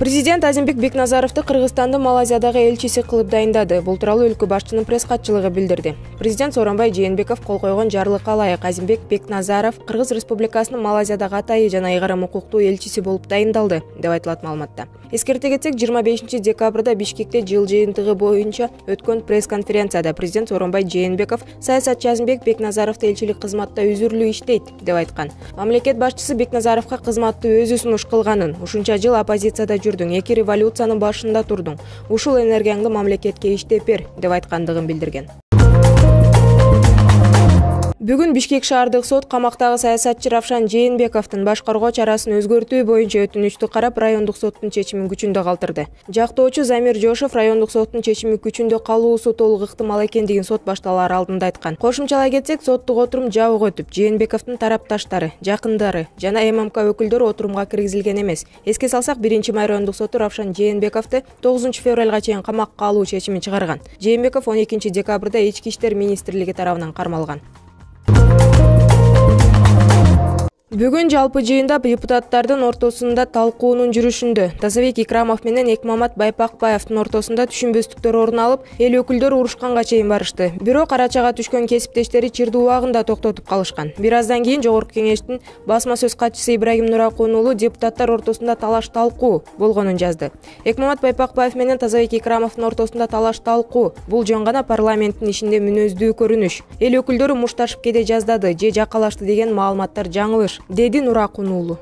Президент Азимбек Бекназаровду Кыргызстандын Малайзиядагы элчиси кылып дайындады. Бул тууралуу өлкө башчынын пресс-катчылыгы билдирди. Президент Сооронбай Жээнбеков кол койгон жарлыкка ылайык Азимбек Бекназаров Кыргыз Республикасынын Малайзиядагы атайы жана ыйгарым укуктуу элчиси болуп дайындалды, деп айтылат маалыматта. Эскерте кетсек, 25-декабрда Бишкекте жыл жыйынтыгы боюнча өткөн пресс-конференцияда президент Сооронбай Жээнбеков саясатчы Азимбек Бекназаровду элчилик кызматта үзүрлүү иштейт, деп айткан. Мамлекет башчысы Бекназаровго кызматты өзү сунуш кылганын, ушунча жыл оппозицияда жүрдүң, 2 революциянын башында турдуң. Ушул энергияңды мамлекетке иштеп бер, деп айткандыгын билдирген. Бүгүн Бишкек шаардык сот камактагы саясатчы Равшан Жээнбековдун башкаруу чарасын өзгөртүү боюнча өтүнүчтү карап, райондук соттун чечимин күчүндө калтырды. Жактоочу Замир Жошов райондук соттун чечими күчүндө калуусу толук ыктымал экендигин сот башталары алдында айткан. Кошумчалай кетсек, соттук отурум жабык өтүп, Жээнбековдун тарапташтары, жакындары жана ММК өкүлдөрү отурумга киргизилген эмес. Эске салсак, 1-май райондук соту Равшан Жээнбековду 9-февралга чейин камакка алуу чечимин чыгарган. Жээнбеков 12-декабрда Ички иштер министрлиги тарабынан кармалган. Бүгүн жалпы жыйында депутаттардын ортосунда талкуунун жүрүшүндө Тазабек Икрамов менен Экмамат Байпакбаевдин ортосунда түшүнбөстүктөр орун алып, эл өкүлдөрү урушканга чейин барышты. Бирок арачага түшкөн кесиптештери чырдуу убагында токтотуп калышкан. Бир аздан кийин Жогорку Кеңештин басма сөз катчысы Ибрагим Нуракун уулу депутаттар ортосунда талаш-талкуу болгонун жазды. Экмамат Байпакбаев менен Тазабек Икрамовдун ортосунда талаш-талкуу бул жөн гана парламенттин ишинде мүнөздүү көрүнүш. Эл өкүлдөрү мушташып кете жаздады же жакалашты деген маалыматтар жаңылыш, деди Нуракун уулу.